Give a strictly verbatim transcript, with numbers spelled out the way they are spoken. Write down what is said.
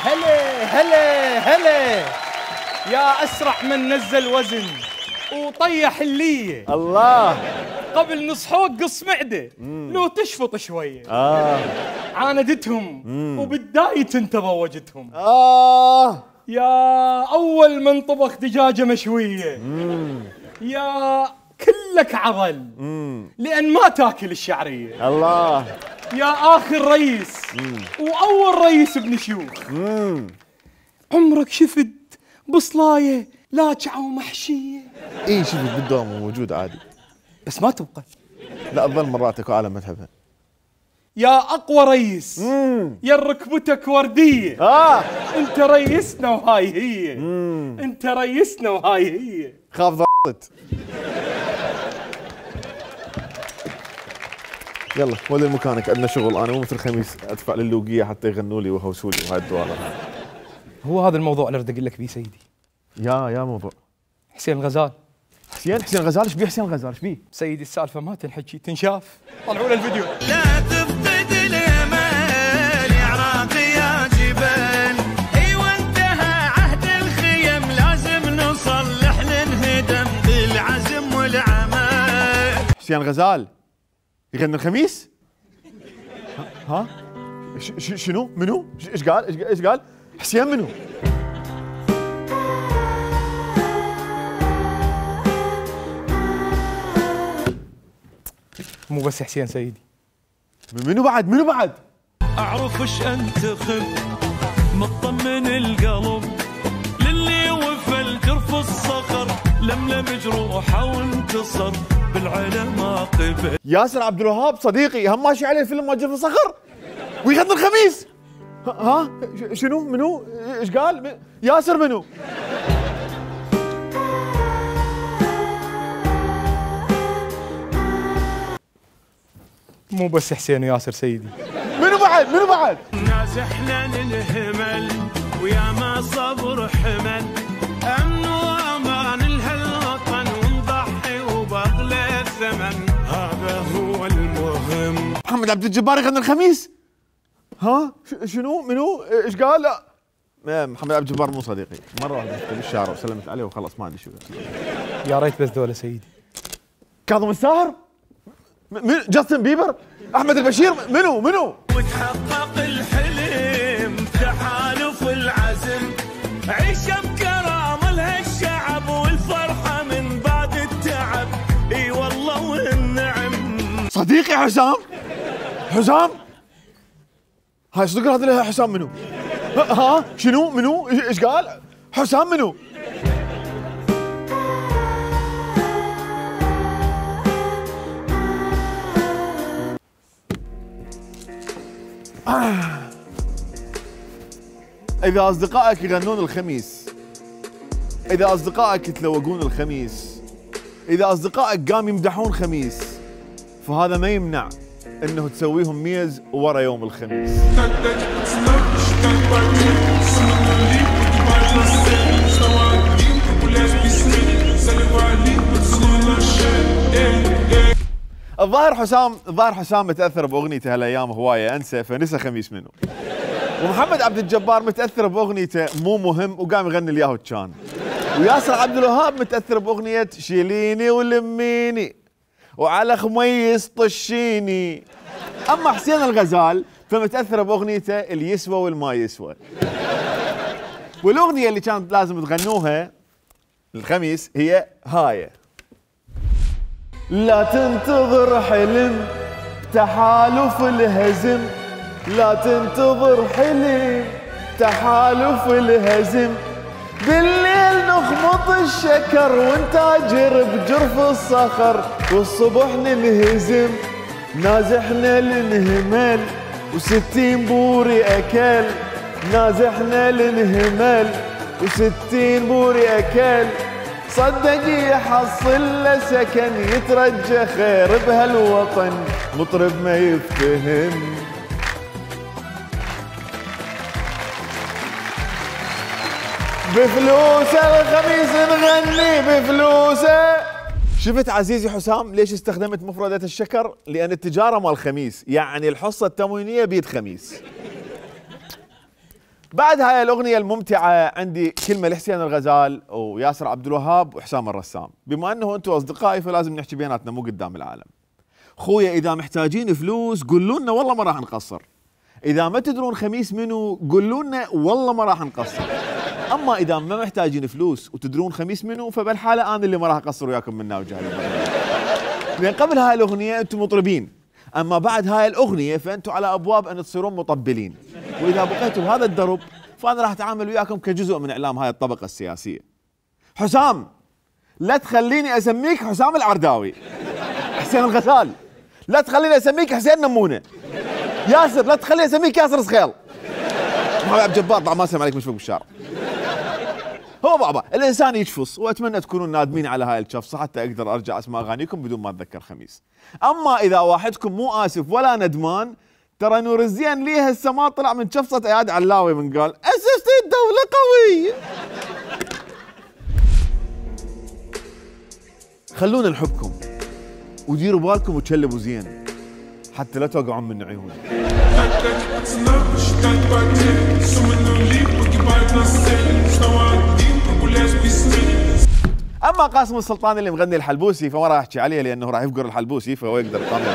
هلا هلا هلا يا أسرع من نزل وزن وطيح اللية. الله. قبل نصحوك قص معدة لو تشفط شوية. آه عاندتهم مم. وبالدايت انت ضوجتهم. آه يا أول من طبخ دجاجة مشوية مم. يا كلك عضل مم. لأن ما تاكل الشعرية. الله. يا آخر رئيس مم. وأول رئيس ابن شيوخ مم. عمرك شفت بصلاية لاجعة ومحشية؟ اي شفت بالدوام موجود عادي بس ما تبقى. لا تظل مراتك وعالم ما تحبها. يا أقوى رئيس مم. يا ركبتك وردية آه. انت رئيسنا وهاي هي مم. انت رئيسنا وهاي هي. خاف ضغطت. يلا ولي مكانك عندنا شغل. انا مو مثل الخميس ادفع للوقيه حتى يغنوا لي ويهوسوا لي وهاي الدوالة. هو هذا الموضوع اللي اريد اقول لك بيه سيدي. يا يا موضوع حسين الغزال. حسين حسين الغزال ايش بيه حسين الغزال ايش بيه؟ سيدي السالفه ما تنحكي تنشاف. طلعوا له الفيديو. لا تفقد الامل يا عراقي يا جبال. ايوه انتهى عهد الخيم لازم نصلح للهدم بالعزم والعمل. حسين الغزال يغني الخميس؟ ها؟ ش شنو؟ منو؟ ايش قال؟ ايش قال؟ حسين منو؟ مو بس حسين سيدي. منو بعد؟ منو بعد؟ اعرف ايش انتخب مطمن القلب للي وفى الجرف الصخر لملم جروحه وانتصر بالعلم قبل. ياسر عبد الوهاب صديقي هم ماشي عليه فيلم جرف الصخر ويغني الخميس. ها شنو منو؟ ايش قال؟ ياسر منو؟ مو بس حسين وياسر سيدي. منو بعد؟ منو بعد؟ نازحنا للهمل ويا ما صبر حمل امن وامان لهالوطن ونضحي وبغلى الثمن هذا هو المهم. محمد عبد الجبار يغني الخميس؟ ها شنو منو؟ ايش قال؟ محمد عبد الجبار مو صديقي. مره واحده بالشارع وسلمت عليه وخلص ما ادري شو. يا ريت بس ذولا سيدي. كاظم الساهر؟ من جاستن بيبر؟ احمد البشير؟ منو منو؟ وتحقق الحلم تحالف العزم عيشه بكرامه لهالشعب والفرحه من بعد التعب. اي والله والنعم. صديقي حسام؟ حسام؟ هاي صدق هذا حسام منو؟ ها شنو منو؟ ايش قال؟ حسام منو؟ آه. إذا أصدقائك يغنون الخميس، إذا أصدقائك يتلوقون الخميس، إذا أصدقائك قام يمدحون خميس، فهذا ما يمنع إنه تسويهم ميز ورا يوم الخميس. الظاهر حسام الظاهر حسام متاثر باغنيته هالايام هوايه انسى فنسى خميس منه. ومحمد عبد الجبار متاثر باغنيته مو مهم وقام يغني الياهو كان. وياسر عبد الوهاب متاثر باغنيه شيليني ولميني وعلى خميس طشيني. اما حسين الغزال فمتاثر باغنيته اللي يسوى والما يسوى. والاغنيه اللي كانت لازم تغنوها الخميس هي هاي. لا تنتظر حلم تحالف الهزم، لا تنتظر حلم تحالف الهزم، بالليل نخمط الشكر ونتاجر بجرف الصخر والصبح ننهزم. نازحنا لنهمل وستين بوري اكل، نازحنا لنهمل وستين بوري اكل، صدق يحصل له سكن يترجى خير بهالوطن مطرب ما يفتهم. بفلوسه الخميس نغني بفلوسه. شفت عزيزي حسام ليش استخدمت مفردة الشكر؟ لأن التجارة مال خميس، يعني الحصة التموينية بيد خميس. بعد هاي الاغنيه الممتعه عندي كلمه لحسين الغزال وياسر عبد الوهاب وحسام الرسام. بما انه انتم اصدقائي فلازم نحكي بيناتنا مو قدام العالم. خويا اذا محتاجين فلوس قولوا لنا والله ما راح نقصر. اذا ما تدرون خميس منو قولوا لنا والله ما راح نقصر. اما اذا ما محتاجين فلوس وتدرون خميس منو فبالحاله انا اللي ما راح اقصر وياكم منا وجهي. لان قبل هاي الاغنيه انتم مطربين، اما بعد هاي الاغنيه فانتم على ابواب ان تصيرون مطبلين، واذا بقيتوا بهذا الدرب فانا راح اتعامل وياكم كجزء من اعلام هاي الطبقه السياسيه. حسام لا تخليني اسميك حسام العرداوي. حسين الغزال لا تخليني اسميك حسين نمونه. ياسر لا تخليني اسميك ياسر صخيل. محمد عبد الجبار طبعا ما اسلم عليك مشفوق بالشارع. هو بابا الانسان يشفص، واتمنى تكونون نادمين على هاي الشفصه حتى اقدر ارجع اسمع اغانيكم بدون ما اتذكر خميس. اما اذا واحدكم مو اسف ولا ندمان ترى نور الزين ليه هسه ما طلع من شفصه اياد علاوي من قال اسست الدوله قوي. خلونا نحبكم وديروا بالكم وتشلبوا زين حتى لا توقعون من عيوني. اما قاسم السلطان اللي مغني الحلبوسي فما راح احكي عليه لانه راح يفقر الحلبوسي فهو يقدر يقامل.